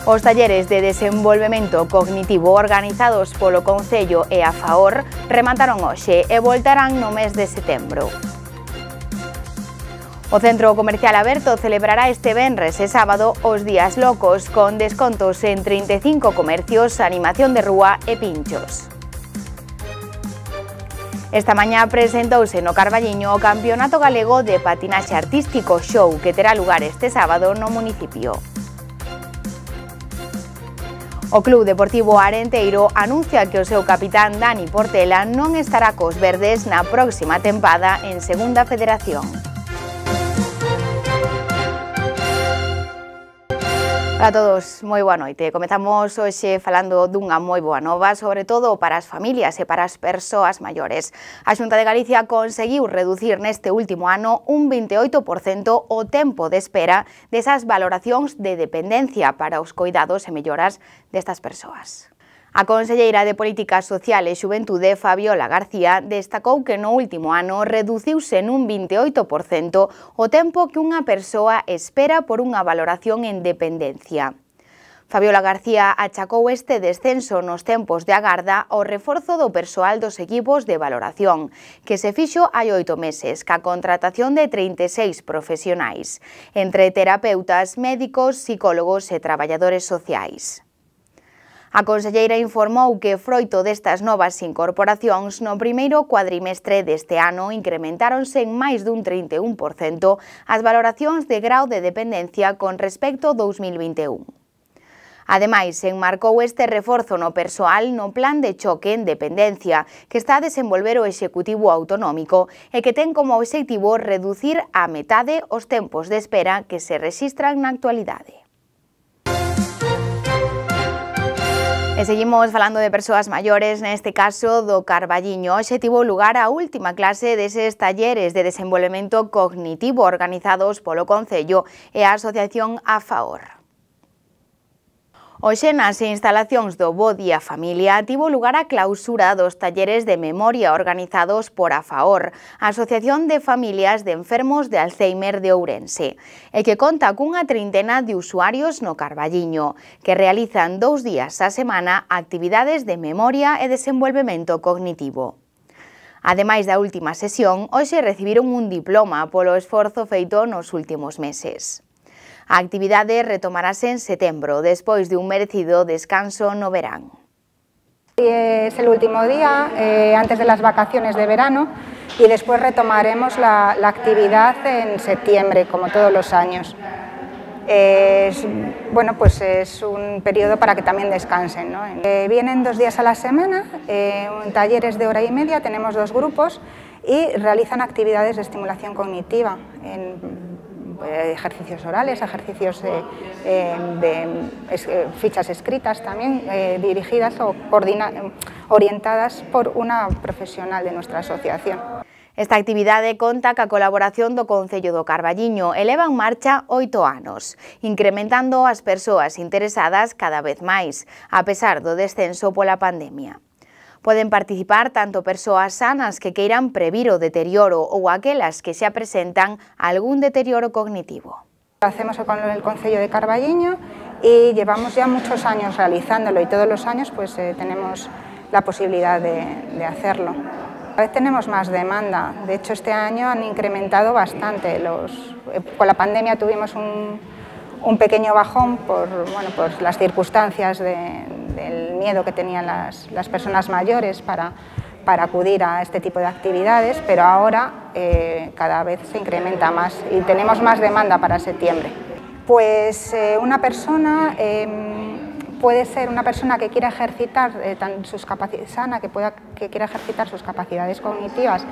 Os talleres de desenvolvemento cognitivo organizados polo Concello e a FAOR remataron hoxe e voltarán no mes de setembro. O Centro Comercial Aberto celebrará este venres e sábado os días locos con descontos en 35 comercios, animación de rúa e pinchos. Esta mañá presentouse no Carballiño o Campeonato Galego de Patinaxe Artístico Show que terá lugar este sábado no municipio. O Club Deportivo Arenteiro anuncia que o seu capitán Dani Portela non estará cos verdes na próxima tempada en Segunda Federación. Hola a todos, moi boa noite. Comezamos hoxe falando dunha moi boa nova, sobre todo para as familias e para as persoas maiores. A Xunta de Galicia conseguiu reducir neste último ano un 28% o tempo de espera desas valoracións de dependencia para os coidados e melloras destas persoas. A conselleira de Política Social e Xuventude, Fabiola García, destacou que no último ano reduciuse nun 28% o tempo que unha persoa espera por unha valoración en dependencia. Fabiola García achacou este descenso nos tempos de agarda ao reforzo do persoal dos equipos de valoración, que se fixo hai 8 meses, ca contratación de 36 profesionais, entre terapeutas, médicos, psicólogos e traballadores sociais. A conselleira informou que, froito destas novas incorporacións, no primeiro cuadrimestre deste ano incrementáronse en máis dun 31% as valoracións de grao de dependencia con respecto ao 2021. Ademais, enmarcou este reforzo no persoal no plan de choque en dependencia que está a desenvolver o Executivo Autonómico e que ten como obxectivo reducir á metade os tempos de espera que se rexistran na actualidade. E seguimos falando de persoas maiores, neste caso do Carballiño. Hoxe tivo lugar a última clase deses talleres de desenvolvemento cognitivo organizados polo Concello e a Asociación a FAOR. Hoxe nas instalacións do Bo Día Familia tivo lugar a clausura dos talleres de memoria organizados por a FAOR, a Asociación de Familias de Enfermos de Alzheimer de Ourense, e que conta cunha trintena de usuarios no Carballiño, que realizan 2 días á semana actividades de memoria e desenvolvemento cognitivo. Ademais da última sesión, hoxe recibiron un diploma polo esforzo feito nos últimos meses. A actividade retomarase en setembro, despois de un merecido descanso no verán. Es el último día, antes de las vacaciones de verano, y después retomaremos la actividad en septiembre, como todos los años. Pues es un periodo para que también descansen, ¿no? Vienen 2 días a la semana, en talleres de hora y media, tenemos 2 grupos y realizan actividades de estimulación cognitiva, ejercicios orales, ejercicios de fichas escritas también, dirigidas o orientadas por una profesional de nuestra asociación. Esta actividade conta ca colaboración do Concello do Carballiño e leva en marcha 8 anos, incrementando as persoas interesadas cada vez máis, a pesar do descenso pola pandemia. Poden participar tanto persoas sanas que queiran previr o deterioro ou aquelas que xa presentan algún deterioro cognitivo. Lo hacemos con el Concello de Carballiño y llevamos ya muchos años realizándolo y todos los años pues tenemos la posibilidad de hacerlo. Cada vez tenemos más demanda, de hecho este año han incrementado bastante. Con la pandemia tuvimos un pequeño bajón por las circunstancias del miedo que tenían las personas mayores para acudir a este tipo de actividades, pero ahora cada vez se incrementa más y tenemos más demanda para septiembre. Pues una persona puede ser una persona que quiera ejercitar sus capacidades sana, que quiera ejercitar sus capacidades cognitivas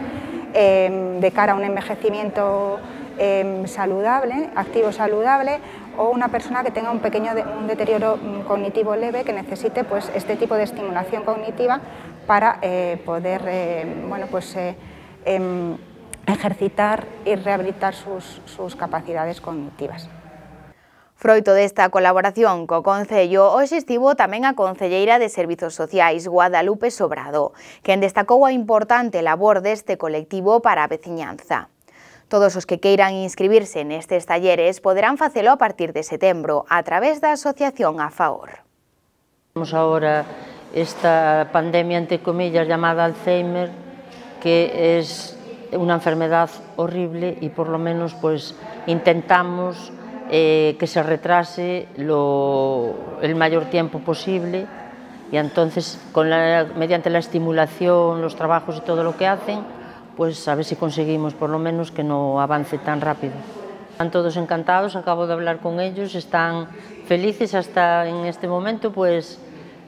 de cara a un envejecimiento saludable, activo saludable, o una persona que tenga un deterioro cognitivo leve que necesite pues este tipo de estimulación cognitiva para poder ejercitar y rehabilitar sus capacidades cognitivas. Froito desta colaboración co Concello, hoxe estivo tamén a concelleira de Servizos Sociais, Guadalupe Sobrado, quen destacou a importante labor deste colectivo para a veciñanza. Todos os que queiran inscribirse nestes talleres poderán facelo a partir de setembro a través da Asociación A Favor. Temos agora esta pandemia, entre comillas, llamada Alzheimer, que es una enfermedad horrible y por lo menos pues intentamos que se retrase el mayor tiempo posible, y entonces mediante la estimulación, los trabajos y todo lo que hacen, pues a ver si conseguimos por lo menos que no avance tan rápido. Están todos encantados, acabo de hablar con ellos, están felices hasta en este momento, pues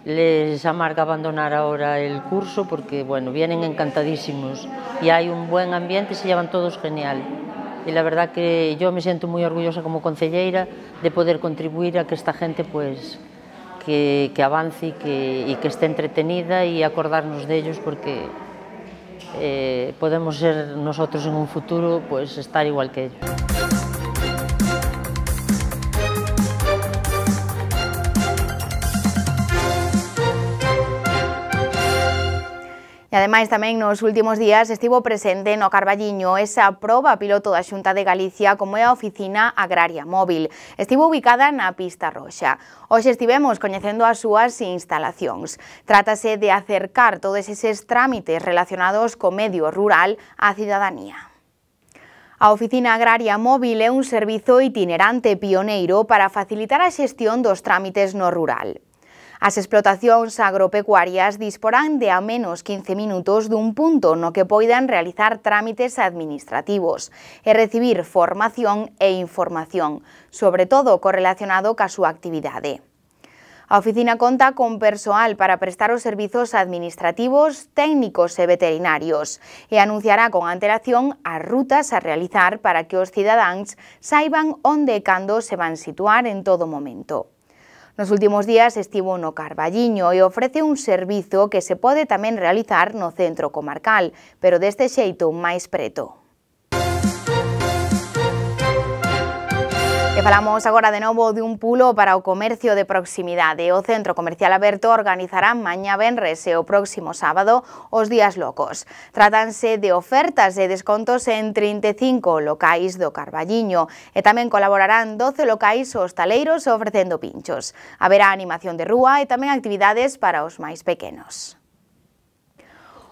les amarga abandonar ahora el curso porque, bueno, vienen encantadísimos y hay un buen ambiente, se llevan todos genial. Y la verdad que yo me siento muy orgullosa como concelleira de poder contribuir a que esta gente, pues, que avance y que esté entretenida y acordarnos de ellos, porque podemos ser nosotros en un futuro, pues, estar igual que ellos. E ademais tamén nos últimos días estivo presente no Carballiño esa proba piloto da Xunta de Galicia como é a Oficina Agraria Móvil. Estivo ubicada na Pista Roxa. Hoxe estivemos coñecendo as súas instalacións. Trátase de acercar todos eses trámites relacionados co medio rural á cidadanía. A Oficina Agraria Móvil é un servizo itinerante pioneiro para facilitar a xestión dos trámites no rural. As explotacións agropecuarias disporán de a menos 15 minutos dun punto no que poidan realizar trámites administrativos e recibir formación e información, sobre todo correlacionado ca súa actividade. A oficina conta con persoal para prestar os servizos administrativos, técnicos e veterinarios e anunciará con antelación as rutas a realizar para que os cidadáns saiban onde e cando se van situar en todo momento. Nos últimos días estivo no Carballiño e ofrece un servizo que se pode tamén realizar no centro comarcal, pero deste xeito máis preto. E falamos agora de novo de un pulo para o comercio de proximidade. O Centro Comercial Aberto organizará mañá venres e o próximo sábado os días locos. Trátanse de ofertas e descontos en 35 locais do Carballiño e tamén colaborarán 12 locais hostaleiros ofrecendo pinchos. Haberá animación de rúa e tamén actividades para os máis pequenos.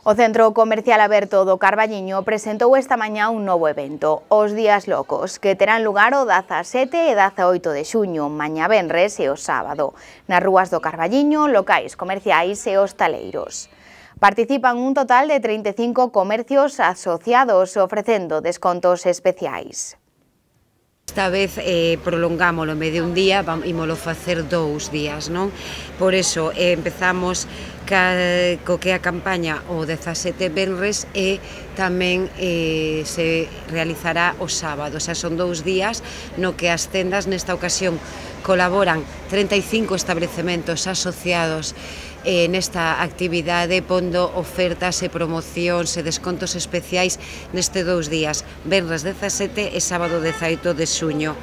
O Centro Comercial Aberto do Carballiño presentou esta mañá un novo evento, os Días Locos, que terán lugar o 17 e 18 de xuño, mañá venres e o sábado, nas rúas do Carballiño, locais comerciais e hostaleiros. Participan un total de 35 comercios asociados ofrecendo descontos especiais. Esta vez prolongámoslo en vez de un día, ímolo facer 2 días, non? Por eso empezamos co que a campaña o 17 venres e tamén se realizará o sábado, o sea, son 2 días no que as tendas nesta ocasión colaboran 35 establecementos asociados nesta actividade, pondo ofertas e promocións e descontos especiais neste 2 días, venres 17 e sábado 18 de xuño.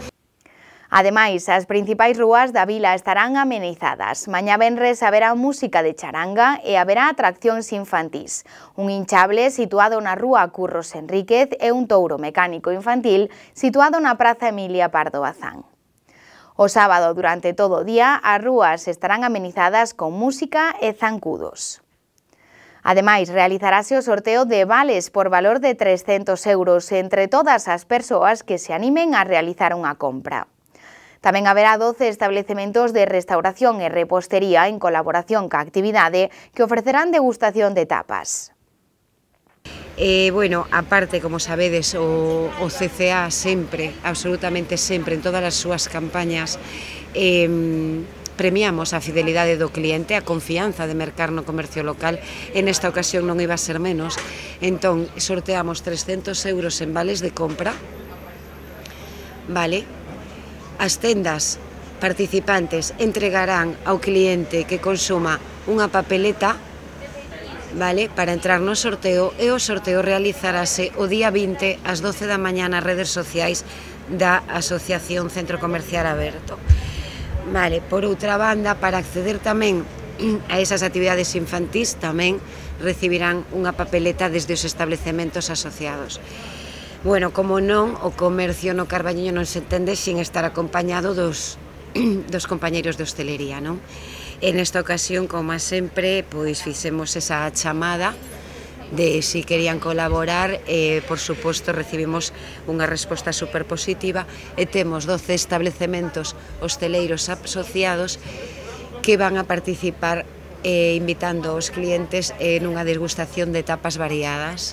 Ademais, as principais rúas da vila estarán amenizadas. Mañá venres haberá música de charanga e haberá atraccións infantís. Un hinchable situado na rúa Curros Enríquez e un touro mecánico infantil situado na Praza Emilia Pardo Bazán. O sábado, durante todo o día, as rúas estarán amenizadas con música e zancudos. Ademais, realizarase o sorteo de vales por valor de 300 euros entre todas as persoas que se animen a realizar unha compra. Tamén haberá 12 establecementos de restauración e repostería en colaboración ca actividade que ofrecerán degustación de tapas. Bueno, aparte, como sabedes, o CCA sempre, absolutamente sempre, en todas as súas campañas, premiamos a fidelidade do cliente, a confianza de mercar no comercio local. En esta ocasión non iba a ser menos, entón sorteamos 300 euros en vales de compra, vale? As tendas participantes entregarán ao cliente que consuma unha papeleta, vale, para entrar no sorteo, e o sorteo realizarase o día 20 ás 12 da mañá nas redes sociais da Asociación Centro Comercial Aberto. Vale, por outra banda, para acceder tamén a esas actividades infantís, tamén recibirán unha papeleta desde os establecementos asociados. Bueno, como non, o comercio no Carballiño non se entende sin estar acompañado dos compañeiros de hostelería, non? En esta ocasión, como sempre, pois fixemos esa chamada de si querían colaborar, por suposto recibimos unha resposta super positiva e temos 12 establecementos hosteleiros asociados que van a participar invitando aos clientes nunha degustación de tapas variadas.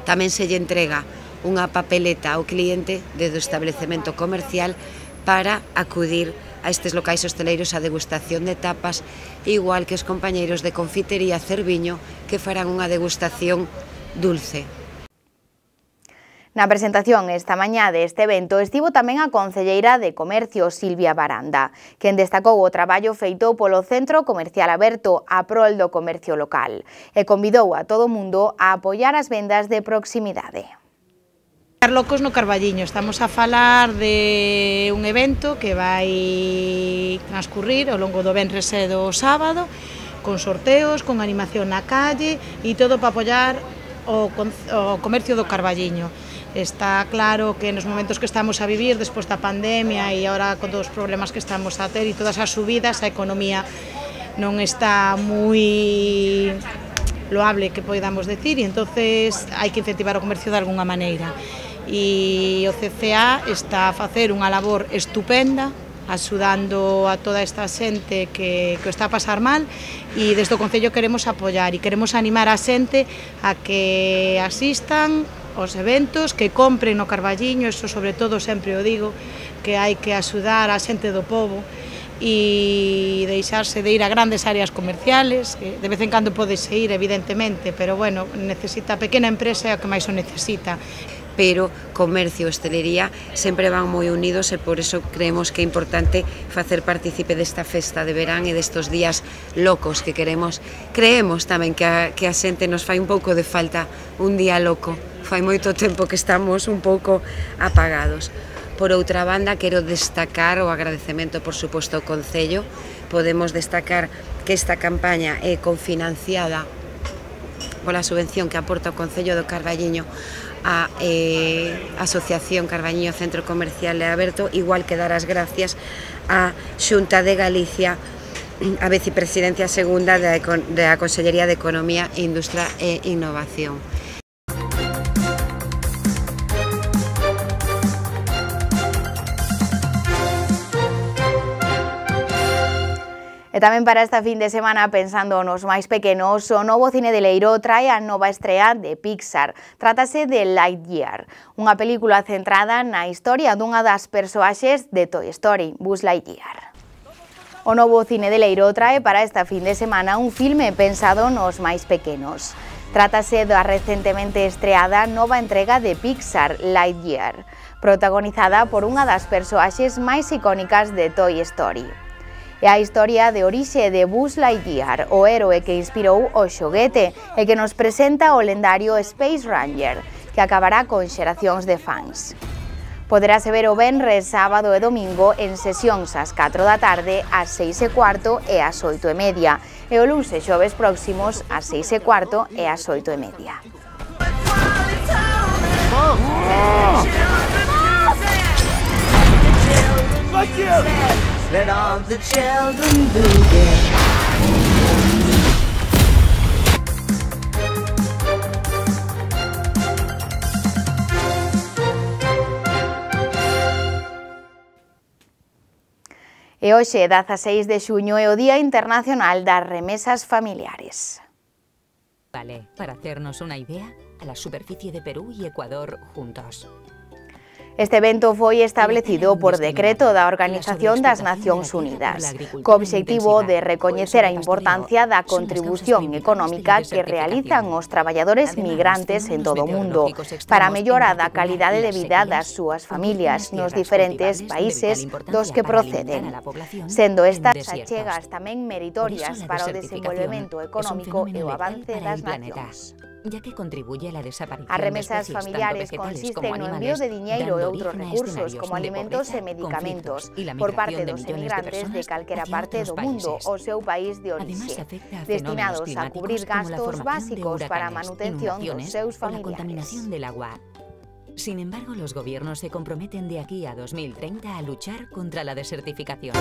Tamén se lle entrega unha papeleta ao cliente do establecemento comercial para acudir a estes locais hosteleiros a degustación de tapas, igual que os compañeiros de confitería Cerviño que farán unha degustación dulce. Na presentación esta mañá deste evento estivo tamén a concelleira de Comercio Silvia Baranda, quen destacou o traballo feito polo Centro Comercial Aberto a prol do comercio local e convidou a todo o mundo a apoiar as vendas de proximidade. Locos no Carballiño, estamos a falar de un evento que vai transcurrir ao longo do venres e do sábado, con sorteos, con animación na calle e todo para apoiar o comercio do Carballiño. Está claro que nos momentos que estamos a vivir despois da pandemia e agora con todos os problemas que estamos a ter e todas as subidas, a economía non está moi loable, que podamos decir, e entonces hai que incentivar o comercio de alguna maneira. E o CCA está a facer unha labor estupenda axudando a toda esta xente que o está a pasar mal e desde o Concello queremos apoiar e queremos animar a xente a que asistan aos eventos, que compren no Carballiño, eso sobre todo sempre o digo, que hai que axudar a xente do pobo e deixarse de ir a grandes áreas comerciales, que de vez en cando podese ir evidentemente, pero bueno, necesita a pequena empresa é o que máis o necesita. Pero comercio e hostelería sempre van moi unidos e por iso creemos que é importante facer partícipe desta festa de verán e destos días locos que queremos. Creemos tamén que a xente nos fai un pouco de falta un día loco, fai moito tempo que estamos un pouco apagados. Por outra banda, quero destacar o agradecemento, por suposto, ao Concello. Podemos destacar que esta campaña é confinanciada pola subvención que aporta o Concello do Carballiño a Asociación Carballiño Centro Comercial e Aberto, igual que dar as gracias á Xunta de Galicia, a vicepresidencia segunda da Consellería de Economía, Industria e Innovación. E tamén para esta fin de semana, pensando nos máis pequenos, o novo cine de Leiro trae a nova estrea de Pixar. Trátase de Lightyear, unha película centrada na historia dunha das persoaxes de Toy Story, Buzz Lightyear. O novo cine de Leiro trae para esta fin de semana un filme pensado nos máis pequenos. Trátase da recentemente estreada nova entrega de Pixar, Lightyear, protagonizada por unha das persoaxes máis icónicas de Toy Story. É a historia de orixe de Buzz Lightyear, o héroe que inspirou o xoguete e que nos presenta o lendario Space Ranger, que acabará con xeracións de fans. Poderase ver o venres, sábado e domingo en sesións ás 4 da tarde, ás 6:15 e ás 8:30, e o luns e xoves próximos ás 6:15 e ás 8:30. Let all the children boogie. E hoxe, 16 de xuño, é o Día Internacional das Remesas Familiares. Vale, para hacernos una idea, a la superficie de Perú y Ecuador juntos. Este evento foi establecido por decreto da Organización das Nacións Unidas, co obxectivo de recoñecer a importancia da contribución económica que realizan os traballadores migrantes en todo o mundo para a mellora da calidade de vida das súas familias nos diferentes países dos que proceden, sendo estas achegas tamén meritorias para o desenvolvemento económico e o avance das nacións. ya que contribuye a la desaparición As remesas de especies familiares tanto vegetales consisten como no animales, envío de diñeiro e dando outros origen a recursos escenarios como de alimentos pobreza, e medicamentos conflictos y la por migración parte de dos millones de emigrantes de personas calquera hacia parte otros do mundo países. ao seu país de Además, orixe, afecta a destinados a fenómenos cubrir climáticos como la gastos formación de básicos para a huracanes, manutención dos inundaciones seus o la familiares. contaminación del agua. Sin embargo, los gobiernos se comprometen de aquí a 2030 a luchar contra la desertificación.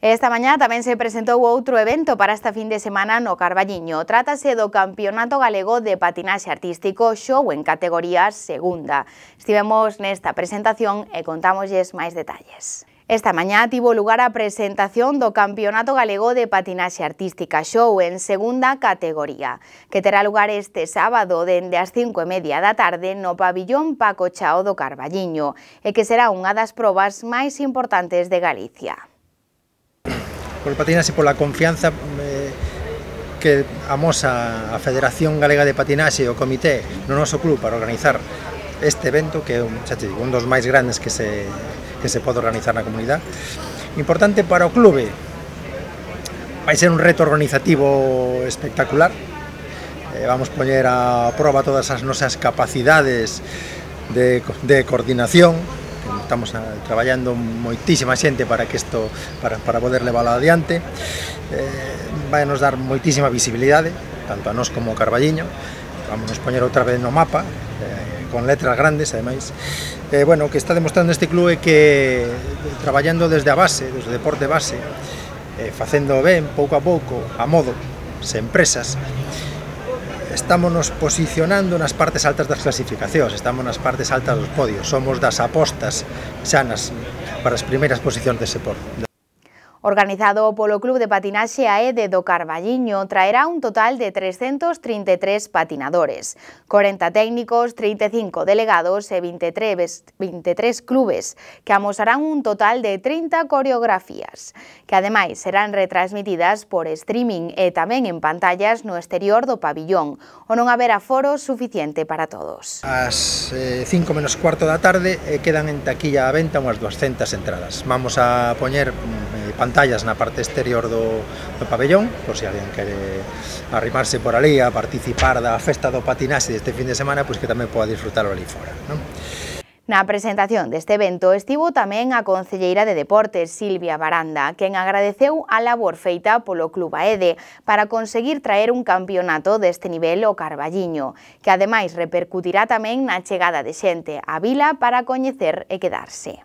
Esta mañá tamén se presentou outro evento para esta fin de semana no Carballiño. Trátase do Campeonato Galego de Patinaxe Artístico Show en categoría segunda. Estivemos nesta presentación e contámosles máis detalles. Esta mañá tivo lugar a presentación do Campeonato Galego de Patinaxe Artística Show en segunda categoría, que terá lugar este sábado dende as 5:30 da tarde no pabillón Paco Chao do Carballiño e que será unha das probas máis importantes de Galicia. Por patinaxe, pola confianza que amosa a Federación Galega de Patinaxe e o Comité no noso club para organizar este evento, que é un dos máis grandes que se pode organizar na comunidade. Importante para o clube, vai ser un reto organizativo espectacular. Vamos poñer a proba todas as nosas capacidades de coordinación. Estamos traballando moitísima xente para que isto para poder leválo adiante. Vai nos dar moitísima visibilidade, tanto a nós como o Carballiño. Vamos nos poñer outra vez no mapa, con letras grandes, ademais. Bueno, o que está demostrando este clube é que traballando desde a base, desde o deporte base, facendo ben, pouco a pouco, a modo, sen empresas, estamos nos posicionando nas partes altas das clasificacións, estamos nas partes altas dos podios, somos das apostas xa para as primeiras posicións dese deporte. Organizado polo Club de Patinaxe AED do Carballiño, traerá un total de 333 patinadores, 40 técnicos, 35 delegados e 23 clubes, que amosarán un total de 30 coreografías, que ademais serán retransmitidas por streaming e tamén en pantallas no exterior do pabillón, o non haber aforo suficiente para todos. Ás 5 menos cuarto da tarde quedan en taquilla a venta unhas 200 entradas. Vamos a poñer pantallas na parte exterior do pabellón, por se alguén quere arrimarse por ali a participar da festa do patinaxe deste fin de semana, pois que tamén poda disfrutarlo ali fora, non? Na presentación deste evento estivo tamén a concelleira de Deportes, Silvia Baranda, quen agradeceu a labor feita polo Club AED para conseguir traer un campeonato deste nivel ao Carballiño, que ademais repercutirá tamén na chegada de xente á vila para coñecer e quedarse.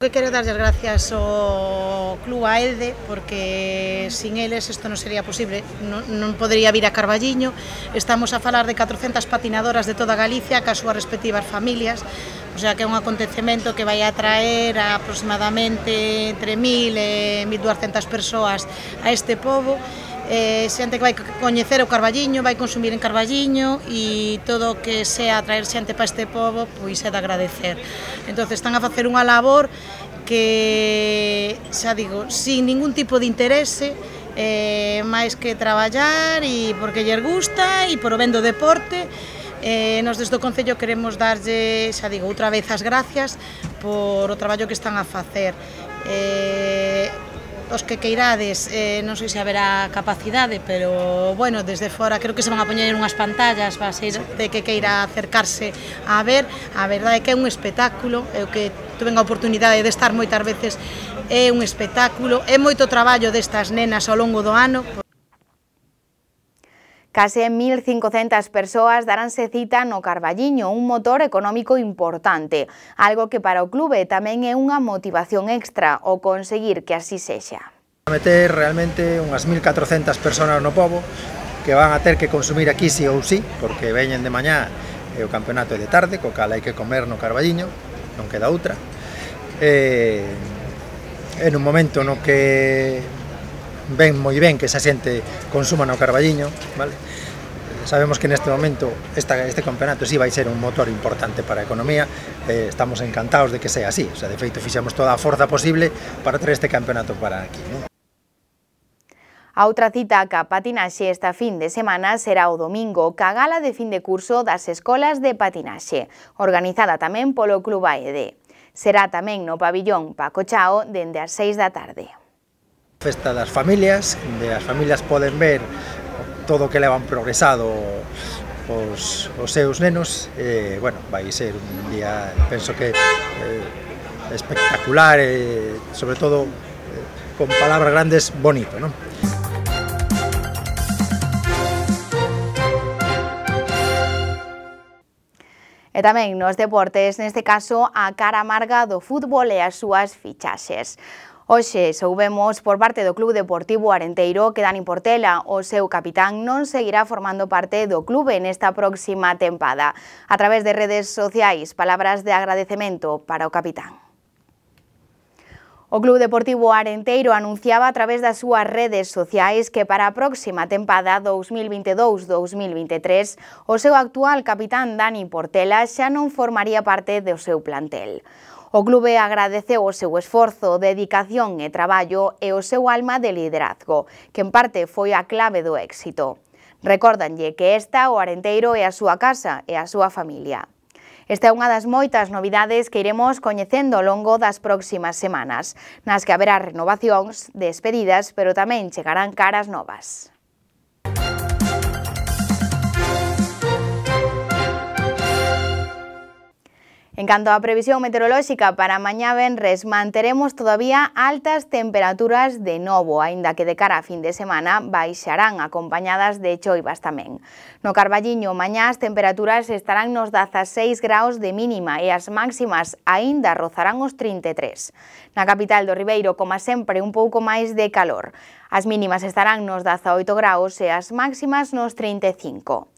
Que quero darlle as gracias ao Club AED, porque sin eles isto non sería posible, non podería vir a Carballiño. Estamos a falar de 400 patinadoras de toda Galicia, cas súas respectivas familias, o sea que é un acontecemento que vai atraer a aproximadamente entre 1000 e 1200 persoas a este pobo. Xente que vai coñecer o Carballiño, vai consumir en Carballiño e todo o que sea atraer xente para este pobo, pois é de agradecer. Entón, están a facer unha labor que, xa digo, sin ningún tipo de interese, máis que traballar e porque lles gusta e por o ben do deporte. Nos desde o Concello queremos darlle, xa digo, outra vez as gracias por o traballo que están a facer. Os que queirades, non sei se haberá capacidade, pero, bueno, desde fora creo que se van a poñer unhas pantallas, va a ser de que queira acercarse a ver. A verdade é que é un espectáculo, é o que tuve a oportunidade de estar moitas veces, é un espectáculo, é moito traballo destas nenas ao longo do ano. Case 1.500 persoas daránse cita no Carballiño, un motor económico importante, algo que para o clube tamén é unha motivación extra o conseguir que así sexa. Meter realmente unhas 1.400 persoas no pobo que van a ter que consumir aquí sí ou sí, porque veñen de mañá e o campeonato é de tarde, co cal hai que comer no Carballiño, non queda outra. En un momento no que ven moi ben que esa xente consuma no Carballiño, vale? Sabemos que neste momento este campeonato sí vai ser un motor importante para a economía, estamos encantados de que sea así, o sea, de feito fixemos toda a forza posible para traer este campeonato para aquí, non? A outra cita ca patinaxe esta fin de semana será o domingo, ca gala de fin de curso das escolas de patinaxe, organizada tamén polo Club AED. Será tamén no pabillón Paco Chao dende as 6 da tarde. Festa das familias, onde as familias poden ver todo o que levan progresado os seus nenos. Bueno, vai ser un día, penso que espectacular, sobre todo con palabras grandes, bonito, non? E tamén nos deportes, neste caso, a cara amarga do fútbol e as súas fichaxes. Hoxe soubemos por parte do Club Deportivo Arenteiro que Dani Portela, o seu capitán, non seguirá formando parte do clube nesta próxima tempada. A través de redes sociais, palabras de agradecemento para o capitán. O Club Deportivo Arenteiro anunciaba a través das súas redes sociais que para a próxima tempada 2022-2023 o seu actual capitán Dani Portela xa non formaría parte do seu plantel. O clube agradeceu o seu esforzo, dedicación e traballo e o seu alma de liderazgo, que en parte foi a clave do éxito. Recórdanlle que esta, o Arenteiro, é a súa casa e a súa familia. Esta é unha das moitas novidades que iremos coñecendo ao longo das próximas semanas, nas que haberá renovacións, despedidas, pero tamén chegarán caras novas. En canto á previsión meteorolóxica para mañá venres, manteremos todavía altas temperaturas de novo, aínda que de cara a fin de semana baixarán acompañadas de choivas tamén. No Carballiño, mañá as temperaturas estarán nos 16 graus de mínima e as máximas aínda rozarán os 33. Na capital do Ribeiro, como sempre, un pouco máis de calor. As mínimas estarán nos 18 graus e as máximas nos 35.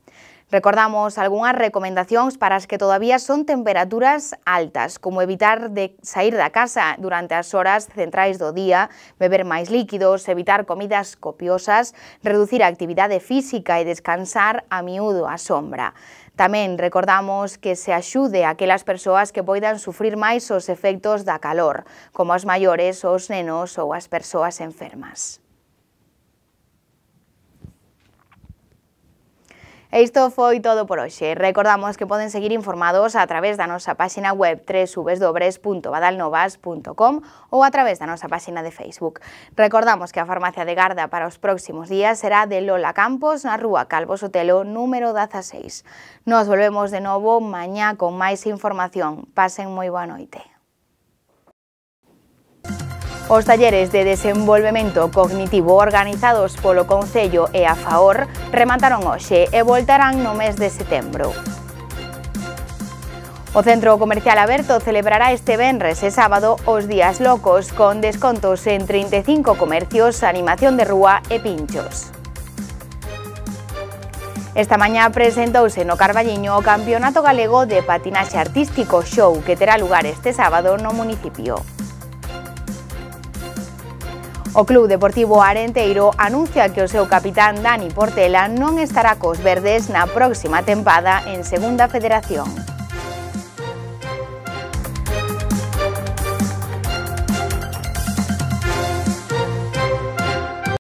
Recordamos algunhas recomendacións para as que todavía son temperaturas altas, como evitar de sair da casa durante as horas centrais do día, beber máis líquidos, evitar comidas copiosas, reducir a actividade física e descansar a miúdo á sombra. Tamén recordamos que se axude a aquelas persoas que poidan sufrir máis os efectos da calor, como os maiores, os nenos ou as persoas enfermas. E isto foi todo por hoxe. Recordamos que poden seguir informados a través da nosa páxina web www.badalnovas.com ou a través da nosa páxina de Facebook. Recordamos que a farmacia de garda para os próximos días será de Lola Campos, na rúa Calvo Sotelo, número 16. Nos volvemos de novo mañá con máis información. Pasen moi boa noite. Os talleres de desenvolvemento cognitivo organizados polo Concello e a FAOR remataron hoxe e voltarán no mes de setembro. O Centro Comercial Aberto celebrará este venres e sábado os días locos con descontos en 35 comercios, animación de rúa e pinchos. Esta mañá presentouse no Carballiño o Campeonato Galego de Patinaxe Artístico Show que terá lugar este sábado no municipio. O Club Deportivo Arenteiro anuncia que o seu capitán Dani Portela non estará cos verdes na próxima tempada en Segunda Federación.